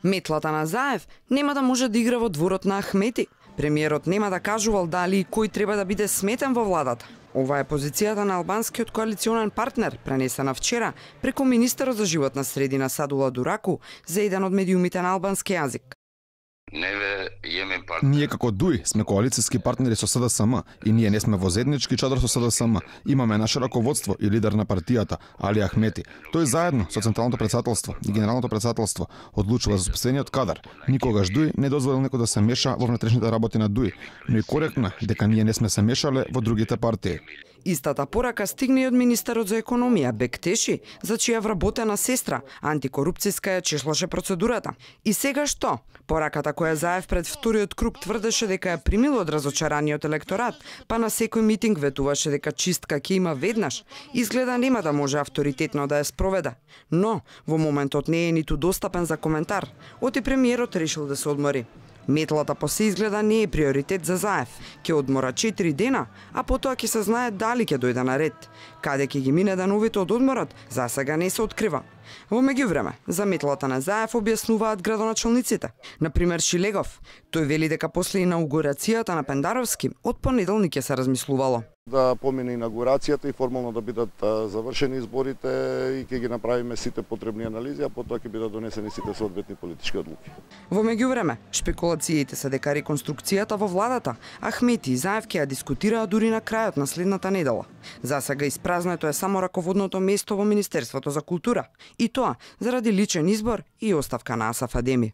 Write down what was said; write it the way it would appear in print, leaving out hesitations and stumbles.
Метлата на Заев нема да може да игра во дворот на Ахмети. Премиерот нема да кажувал дали и кој треба да биде сметен во владата. Ова е позицијата на албанскиот коалиционен партнер, пренесена вчера преку министерот за животна средина Садула Дураку за еден од медиумите на албански јазик. Ние како ДУИ сме коалициски партнери со СДСМ и ние не сме во заеднички чадар со СДСМ. Имаме наше раководство и лидер на партијата, Али Ахмети. Тој заедно со Централното претседателство и Генералното претседателство одлучува за спасениот кадар. Никогаш ДУИ не дозволил некој да се меша во внатрешните работи на ДУИ, но и коректно дека ние не сме се мешале во другите партии. Истата порака стигне и од министерот за економија Бектеши, за чија вработена сестра, антикорупцијска ја чешлаше процедурата. И сега што? Пораката која Заев пред вториот круг тврдеше дека ја примил од разочараниот електорат, па на секој митинг ветуваше дека чистка ќе има веднаш, изгледа нема да може авторитетно да ја спроведе. Но во моментот не е ниту достапен за коментар, оти премиерот решил да се одмори. Метлата по се изгледа не е приоритет за Заев. Ќе одмора 4 дена, а потоа ќе се знае дали ќе дојде на ред. Каде ќе ги мине деновите од одморот, за сега не се открива. Во меѓувреме, за метлата на Заев објаснуваат градоначалниците. Например Шилегов. Тој вели дека после инаугурацијата на Пендаровски од понеделник ќе се размислувало. Да помине инаугурацијата и формално да бидат завршени изборите и ќе ги направиме сите потребни анализи, а потоа ќе бидат донесени сите соодветни политички одлуки. Во меѓувреме, шпекулациите се дека реконструкцијата во владата Ахмети и Заев ќе ја дискутираат дури на крајот на следната недела. За сега испразнето е само раководното место во Министерството за култура, и тоа заради личен избор и оставка на Асаф Адеми.